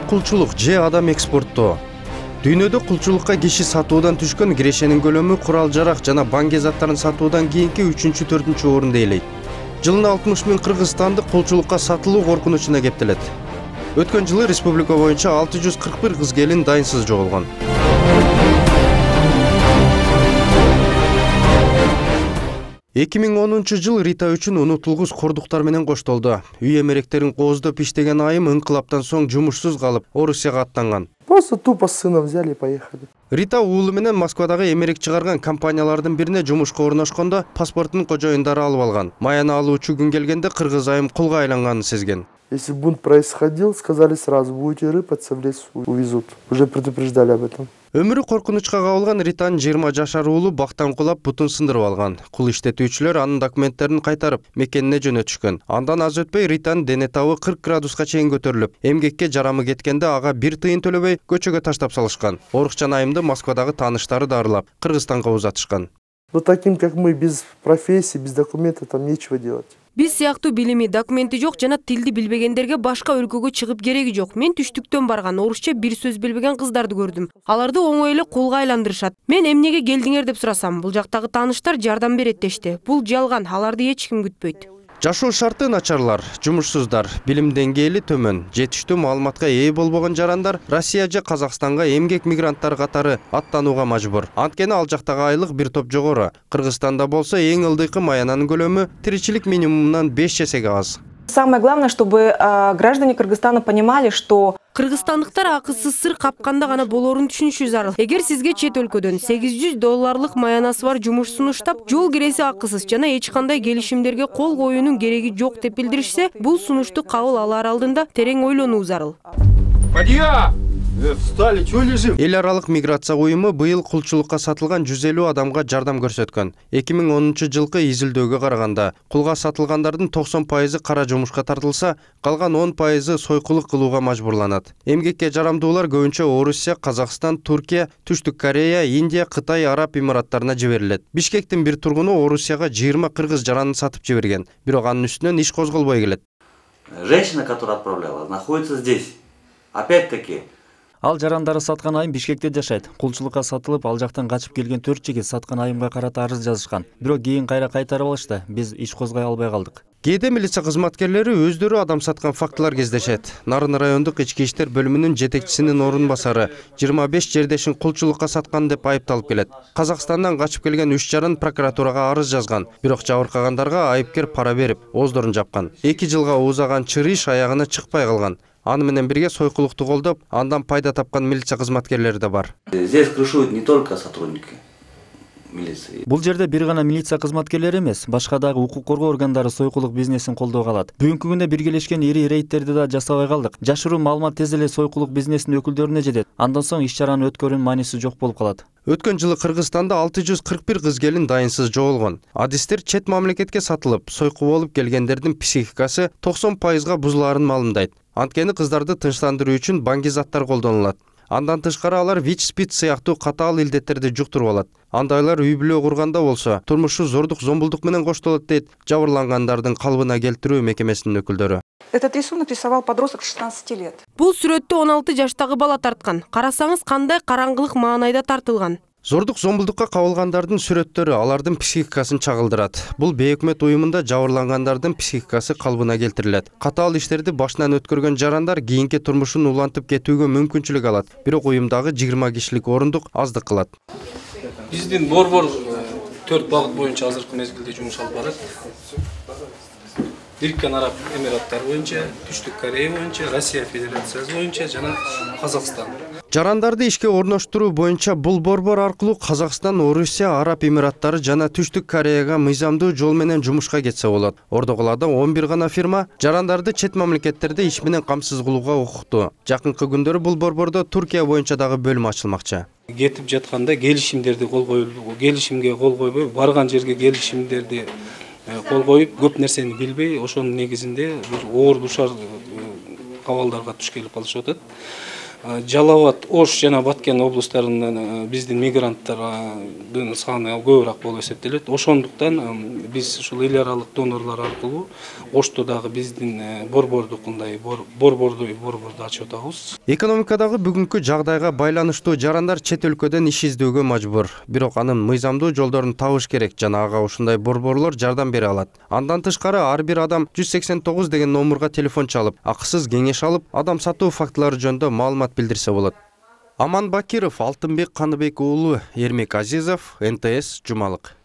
кулчулук же адам экспорттоо. Дүйнөдө кулчулукка киши сатуудан түшкөн кирешенин көлөмү курал-жарак жана банк заттарын сатуудан кийинки 3-4 орунду ээлейт. Жылына 60 000 кыргызстандык кулчулукка сатылуу коркунучуна кептелет. Өткөн жылы республика боюнча 641 кыз келин дайынсыз жоголгон. 2010 жыл Рита үчүн унутулгус кордуктар менен коштолду. Үй эмеректерин кооздоп иштеген айым инкылаптан соң жумушсуз калып, Орусияга аттанган. Просто тупо сына взяли и поехали. Рита уулу менен Москвадагы эмерек чыгарган компаниялардын бирине жумушка орношкондо паспорттун кожоюндары алып алган. Маяны алуучу күн келгенде кыргыз айым кулга айланганын сезген. Если бунт происходил, сказали сразу, будете рыпаться, в лес увезут. Уже предупреждали об этом. Өмүрү коркунучка кабылган Ританын 20 жашар уулу бактан кулап бутун сындырып алган. Кул иштетүүчүлөр анын документтерин кайтарып, мекенине жөнөтүшкөн. Андан аз өтпөй Ританын дене табы 40 градуска чейин көтөрүлүп, эмгекке жарамы кеткенде ага 1 тыйын төлөбөй көчөгө таштап салышкан. Орукчан айымды Москвадагы тааныштары дарылап, Кыргызстанга узатышкан. Но таким, как мы, без профессии, без документов, там нечего делать. Биз сыяктуу билими, документи жок жана тилди билбегендерге башка өлкөгө чыгып кереги жок. Мен түштүктөн барган орусча бир сөз билбеген кыздарды көрдүм. Аларды оңой эле кулга айландырышат. Мен эмнеге келдиңер деп сурасам, бул жактагы тааныштар жардам берет дешти. Бул жалган, аларды эч ким күтпөйт. Жашоо шарты начарлар, жумушсуздар, билим деңгээли төмөн, жетиштүү маалыматка ээ болбогон жарандар Россия же Казакстанга эмгек мигранттар катары аттанууга мажбур. Анткени ал жактагы айлык бир топ жогору. Кыргызстанда болсо эң ылдыйкы маянанын көлөмү тиричилик минимумунан 5 эсеге аз. Самое главное, чтобы граждане Кыргызстана понимали, что кыргызстандыктар акысыз сыр капканда гана болорун түшүнүшү зарыл. Эгер сизге чет өлкөдөн $800 маянасы бар жумуш сунуштап, жол киреси акысыз жана эч кандай келишимдерге кол коюунун кереги жок деп билдиришсе, бул сунушту кабыл алаар алдында терең ойлонуу зарыл. Встали, чего лежим? Эл аралык миграция уюму быйыл кулчулукка сатылган 150 адамга жардам көрсөткөн. 2010 жылкы изилдөөгө караганда, кулга сатылгандардын 90% кара жумушка тартылса, калган 10% сойкулук кылууга мажбурланат. Эмгекке жарамдуулар көбүнчө Орусия, Казакстан, Туркия, Түштүк Корея, Индия, Кытай, Араб Эмираттарына жиберилет. Бишкектин бир тургуну Орусияга 20 кыргыз жаранын сатып жиберген, бирок анын үстүнөн иш козголбой келет. Женщина, которая отправляла, находится здесь. Опять-таки, ал жарандары саткан айым Бишкекте жашайт. Кулчулукка сатылып, ал жактан качып келген 4 жигит саткан айымга карата арыз жазышкан. Бирок кийин кайра кайтарып алышты. Биз иш козгой албай калдык. Кээде милиция кызматкерлери өздөрү адам саткан фактылар кездешет. Нарын райондук ички иштер бөлүмүнүн жетекчисинин орун басары 25 жердешин кулчулукка саткан деп айыпталып келет. Казакстандан качып келген 3 жарын прокуратурага арыз жазган. Бирок жабыркагандарга айыпкер пара берип, оздорун жапкан. 2 жылга уузаган чыр иш аягына чыкпай калган. Аны менен бирге сойкулукту колдоп, андан пайда тапкан милиция кызматкерлери да бар. Здесь крышуют не только сотрудники милиции. Бул жерде бир гана милиция кызматкерлери эмес, башка дагы укук коргоо органдары сойкулук бизнесин колдоого алат. Бүгүнкү күндө биргелешкен ири рейдтерди да жасабай калдык. Жашыруу маалымат тез эле сойкулук бизнесинин өкүлдөрүнө жетет. Андан соң иш чаранын өткөрүүнүн мааниси жок болуп калат. Өткөн жылы Кыргызстанда 641 кыз келин дайынсыз жоголгон. Адистер чет мамлекетке сатылып, сойку болуп келгендердин психикасы 90%га бузулаарын маалымдайт. Анткени кыздарды тынчтандыруу үчүн банк заттар колдонулат. Андан тышкары алар ВИЧ-СПИД сыяктуу катаал илдеттерди жуктуруп алат. Андайлар үй бүлө курганда болсо, турмушу зордук, зомбулдук менен коштолот дейт жабырлангандардын калыбына келтирүү мекемесинин өкүлдөрү. этот рисунок рисовал подросток 16 лет. Бул сүрөттү 16 жаштагы бала тарткан. Карасаңыз кандай караңгылык маанайда тартылган. Зордук, зомбулдукка кабылгандардын сүрөттөрү алардын психикасын чагылдырат. Бул бейөкмөт уюмунда жабырлангандардын психикасы калыбына келтирилет. Катаал иштерди башынан өткөргөн жарандар кийинки турмушун улантып кетүүгө мүмкүнчүлүк алат. Бирок уюмдагы 20 кишилик орундук аздык кылат. Биздин борбор 4 багыт боюнча азыркы мезгилде жумуш алып барат. Бириккен Араб Эмираттары боюнча, Түштүк Корея боюнча, Россия Федерациясы боюнча жана Казакстан. Жарандарды ишке орноштуруу боюнча бул борбор аркылуу Казакстан, Орусия, Араб Эмираттары жана Түштүк Кореяга мыйзамдуу жол менен жумушка кетсе болот. Ордогулада 11 гана фирма жарандарды чет мамлекеттерде иш менен камсыз кылууга укуктуу. Жакынкы күндөрү бул борбордо Туркия боюнча дагы бөлүм ачылмакчы. Кетип жатканда келишимдерди кол коюлду, келишимге кол койбой, барган жерге келишимдерди кол коюп, көп нерсени билбей, ошонун негизинде оор душар кабалдарга туш келип калышып атат. Жалал Абад, Ош жана Баткен облустарынан биздин мигранттардын саны көбүрөөк болуп эсептелет. Ошондуктан биз ушул эл аралык донорлор аркылуу Ошто дагы биздин борбордукундай борборду ачып атабыз. Экономикадагы бүгүнкү жагдайга байланыштуу жарандар чет өлкөдөн иш издөөгө мажбур. Бирок анын мыйзамдуу жолдорун табыш керек жана ага ушундай борборлор жардам бере алат. Андан тышкары ар бир адам 189 деген номурга телефон чалып, акысыз кеңеш алып, адам сатуу фактылары жөнүндө маалымат билдирсе болот. Аман Бакиров, Алтынбек Каныбек уулу, Эрмек Азизов, НТС, Жумалык.